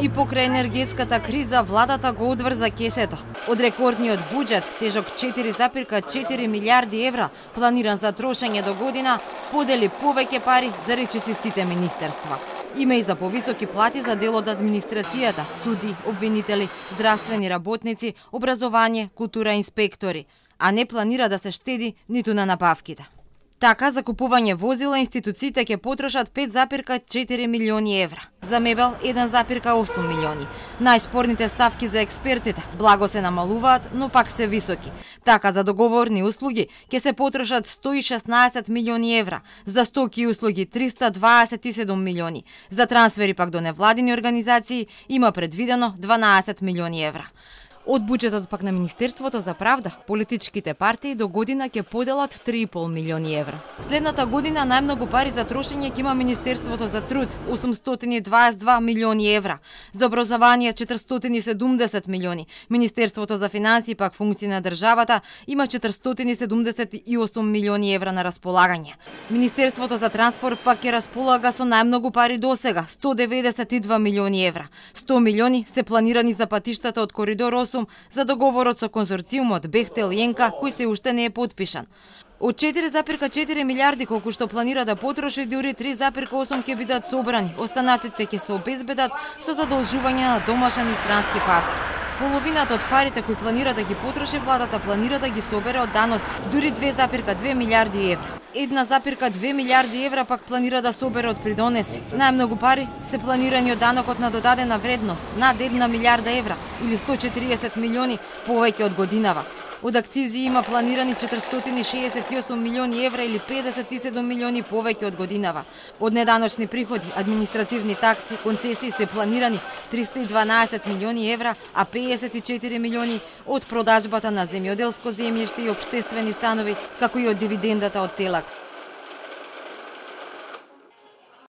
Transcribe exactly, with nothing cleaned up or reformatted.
И покрај енергетската криза, владата го одврза кесето. Од рекордниот буџет, тежок четири запирка четири милиарди евра, планиран за трошење до година, подели повеќе пари за речиси сите министерства. Има и за повисоки плати за дел од администрацијата, суди, обвинители, здравствени работници, образование, култура, инспектори, а не планира да се штеди ниту на набавките. Така, за купување возила институциите ќе потрошат пет запирка четири милиони евра. За мебел еден запирка осум милиони. Најспорните ставки за експертите благо се намалуваат, но пак се високи. Така, за договорни услуги ќе се потрошат сто и шеснаесет милиони евра, за стоки и услуги триста дваесет и седум милиони. За трансфери пак до невладини организации има предвидено дванаесет милиони евра. Од буџетот пак на Министерството за правда, политичките партии до година ќе поделат три и пол милиони евра. Следната година најмногу пари за трошење ќе има Министерството за труд – осумстотини и дваесет и два милиони евра, за образование четиристотини и седумдесет милиони, Министерството за финансии пак функции на државата има четиристотини и седумдесет и осум милиони евра на располагање. Министерството за транспорт пак ќе располага со најмногу пари досега – сто деветдесет и два милиони евра. сто милиони се планирани за патиштата од коридор осум за договорот со конзорциумот Бехтел и Енка, кој се уште не е потпишан. Од четири запирка четири милиарди колку што планира да потроши, дури три запирка осум ќе бидат собрани, останатите ќе се обезбедат со задолжување на домашен и странски пазар. Половината од парите кои планира да ги потроши, владата планира да ги собере од даноци, дури две запирка две милиарди евра. Една запирка две милиарди евра пак планира да собере од придонеси. Најмногу пари се планирани од данокот на додадена вредност, над една милиарда евра или сто четириесет милиони повеќе од годинава. Од акцизи има планирани четиристотини и шеесет и осум милиони евра или педесет и седум милиони повеќе од годинава. Од неданочни приходи, административни такси, концесии се планирани триста и дванаесет милиони евра, а педесет и четири милиони од продажбата на земјоделско земјиште и општествени станови, како и од дивидендата од Телак.